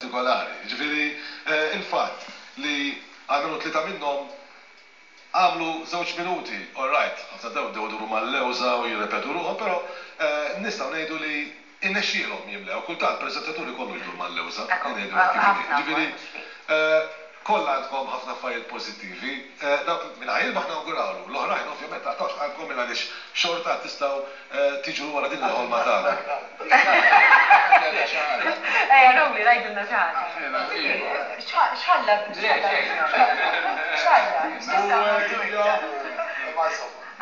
Partikolari. Jiġifieri il-fatt li għamelu tlieta minnhom għamlu żewġ minuti, all right, ħafna drabi bdew iduru mal-lewża u jirrepetu ruħhom, però nistgħu ngħidu li rnexxielhom jimlew. Kultant preżentatur ikollu jdur mal-lewża, ngħidu hekk kif inhi. Jiġifieri kollha għandkom ħafna affarijiet pożittivi. Dawk min ħa jirbaħ nawgurawlu, l-oħrajn ovvjament taqtgħux qalbkom il-għaliex xorta tistgħu tiġru wara din il-ħolma tagħna. Ejja Rowli ngħidilna xi ħaġa. X'ħalla x'ħalla x'nistgħu ngħidu iktar?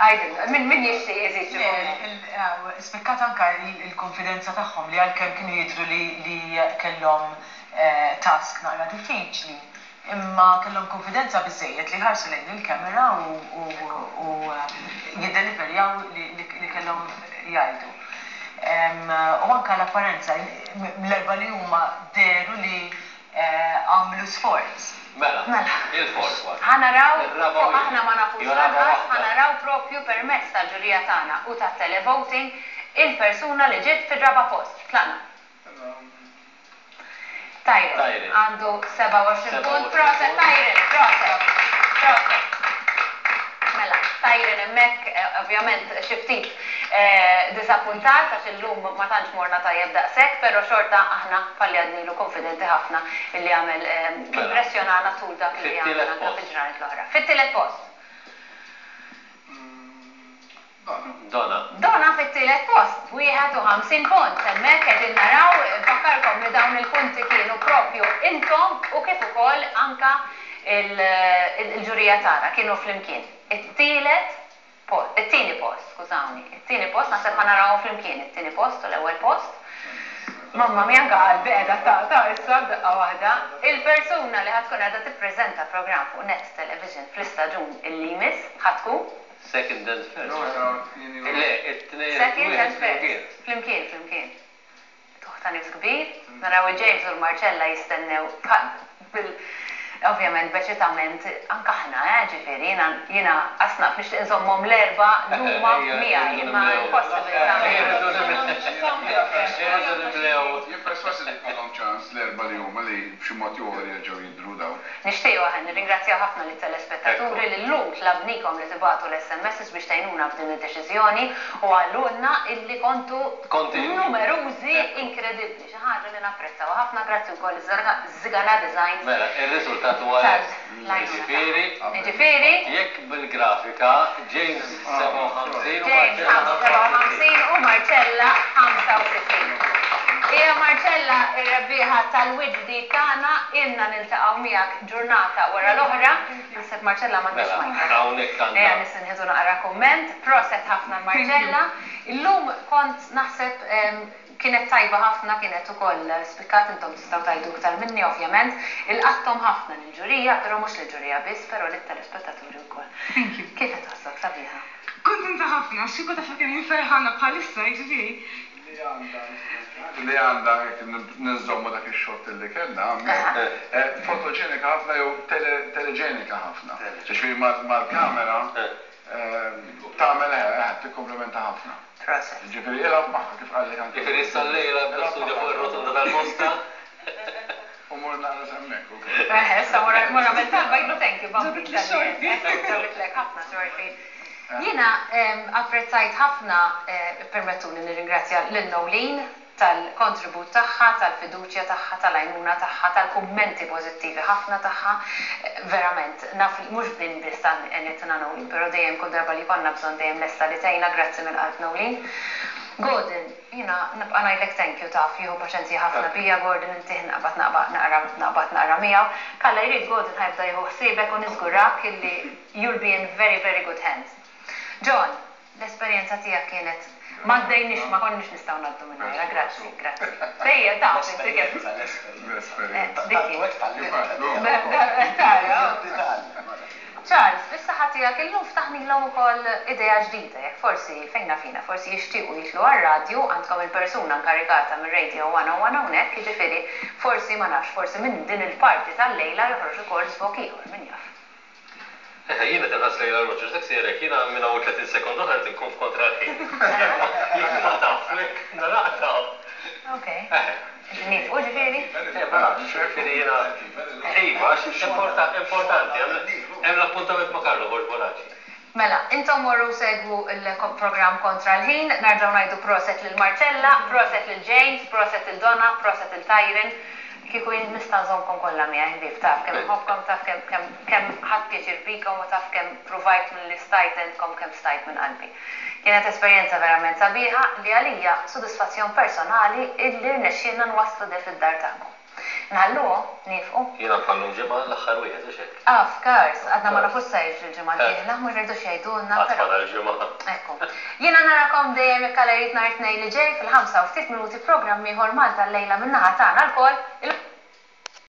Għidilna, min min jixtieq iżid xi kumment? Spikkat anke l-kunfidenza tagħhom li għalkemm kienu jidhru li kellhom task naqra diffiċli, Imma kellhom kunfidenza biżżejjed li jħarsu lejn il-camera u jiddeliverjaw li kellhom jgħidu. U anke l-apparenza, l-erbgħa li huma dehru li għamlu sforz. Mela, il-fourth one. Ħa naraw, Ir-raba' fuq wieħed. aħna ma nafux Jew raba' lanqas, ħa waħda. naraw propju permezz tal-ġurija tagħna u tat-televoting il-persuna li ġiet fir-raba' post. Tlaqna. Tyron għandu 27 punt. Proset Tyron, proset. Proset. Mela, Tyron hemmhekk ovvjament xi ftit diżappuntat għax illum ma tantx morna tajjeb daqshekk, però xorta aħna bħalli għadnilu konfidenti ħafna illi għamel impressjonana tul dak li għamel anke fil-ġranet l-oħra. Fit-tielet post. Dona. Dona fit-tielet post b'51 punt. Hemmhekk qegħdin naraw, infakkarkom li dawn il-punti kienu propju intom u kif ukoll anke l-ġurija tagħna kienu flimkien. It-tielet post, it-tieni post, skużawni, it-tieni post naħseb ħa narawhom flimkien, it-tieni post u l-ewwel post. Mamma mia anke qalbi qiegħda taqta' issa f'daqqa waħda. Il-persuna li ħa tkun qiegħda tippreżenta programm fuq Net Television fl-istaġun illi jmiss ħa tkun. Second and first. Le, it-tnejn. Second and first. Flimkien, flimkien. Tuħ ta' nifs kbir. Naraw il-James u l-Marcella jistennew bil ovvjament b'eċitament anke aħna, eh, ġifieri jiena jiena qas naf nixtieq inżommhom l-erbgħa l-huma miegħi imma impossible tagħmel. Irridu nimlew. Jien persważ li jkollhom ċans l-erbgħa li huma li b'xi mod jew ieħor jerġgħu jidhru dawn. Nixtiequ aħna nirringrazzjaw ħafna lit-telespettaturi li llum tlabnikom li tibagħtu l-SMSs biex tgħinuna f'din id-deċiżjoni u qalulna illi kontu numerużi inkredibbli, xi ħaġa li napprezzawha ħafna. Grazzi wkoll liż-Żigana Designs Mela, ir-riżultat huwa hekk. tal-għajnuna Jiġifieri, tagħhom. Jiġifieri. Jekk bil-grafika, James 57 u James Marcella 57 u Marcella 65. Hija Marcella r-rebbieħa tal-wiċċ ġdid tagħna, ilna niltaqgħu miegħek ġurnata wara l-oħra. Naħseb Marcella m'għandhiex Mela, microphone. hawnhekk Ejja għandha. nisinħidu naqra kumment. Proset ħafna l-Marcella. Illum kont naħseb kienet tajba ħafna, kienet ukoll spikkat, intom tistgħu tgħidu iktar minni ovvjament. Ilqatthom ħafna lill-ġurija, però mhux lill-ġurija biss, però lit-telespettaturi wkoll. Thank you. Kif qed tħossok sabiħa? Kuntenta ħafna, għax kieku taf kemm jien ferħana bħalissa, jiġifieri. Li għandha, li għandha, jekk ninżommu dak ix-xott li kellna, fotoġenika ħafna jew teleġenika ħafna. Jiġifieri mal-kamera tagħmel, tikkumplimenta ħafna. Proset. Jiġifieri ilgħab magħha kif qallek anke. Jiġifieri issa llejla bda studja fuq ir-rotonda tal-Mosta. U mur naqra s'hemmhekk ukoll. Eħe, issa mur nagħmel talba jgħidlu thank you Bambi. Ġabitli x-xorti. Ġabitlek ħafna xorti. Jiena apprezzajt ħafna, ippermettuli nirringrazzja lil Noeleen tal-kontribut tagħha, tal-fiduċja tagħha, tal-għajnuna tagħha, tal-kummenti pożittivi ħafna tagħha. Verament, naf li mhux f'din biss għenitna Noeleen, però dejjem kull darba li jkollna bżonn dejjem lesta li tgħinna, grazzi mill-qalb Noeleen. Gordon, jiena nibqa' ngħidlek thank you taf, jieħu paċenzja ħafna bija Gordon intih naqbad naqra naqbad naqra miegħu. K'Alla jrid Gordon ħa jibda jieħu ħsiebek u niżgurak illi You'll be in very very good hands. John, l-esperjenza tiegħek kienet m'għaddejniex ma konniex nistgħu ngħaddu mingħajrha, grazzi, grazzi. Dejjem taf inti kemm. L-esperjenza, l-esperjenza. Dik hi. Tara. Charles, bis-saħħa tiegħek illum ftaħnilhom ukoll idea ġdida, jekk forsi, fejn naf jiena, forsi jixtiequ jidħlu għar-radju, għandkom il-persuna nkarigata mir-Radio 101 hawnhekk, jiġifieri forsi, ma nafx, forsi minn din il-parti tal-lejla joħroġ ukoll żvog ieħor, min jaf. Eħe, jien qed inħass lejn l-arloġġ għax dak sejjer hekk, jiena minn hawn 30 sekonda oħra rrid inkun f'kontra l-ħin. Jekk ma taf, jekk naqta'. Ok. Eħe. Nieqfu ġifieri? Eh, ma nafx, ġifieri jiena. Iva, għax importanti, hemm l-appuntament ma' Carlo Borg Bonacci. Mela, intom morru segwu l-programm Kontra l-Ħin, nerġgħu ngħidu proset lil Marcella, proset lil James, proset lil Donna, proset lil Tyron. Kieku jien nista' nżommkom kollha miegħi ħbieb, taf kemm inħobbkom, taf kemm kemm kemm ħadt pjaċir bikom u taf kemm pruvajt milli stajt għentkom kemm stajt minn qalbi. Kienet esperjenza verament sabiħa li għalija sodisfazzjon personali illi rnexxielna nwasslu de fid-dar tagħkom. Nħalluhom? Niefqu? Jiena bħal-lum ġimgħa l-aħħar wieħed, hux hekk? Of course, għadna ma nafux sa jiġri l-ġimgħa d-dieħla, ma jridux jgħidulna, Għad però. fadal ġimgħa. Ekku. Jiena narakom dejjem jekk Alla jrid nhar it-Tnejn li ġej fil-ħamsa u ftit minuti programm ieħor Malta Llejla min-naħa tagħna lkoll.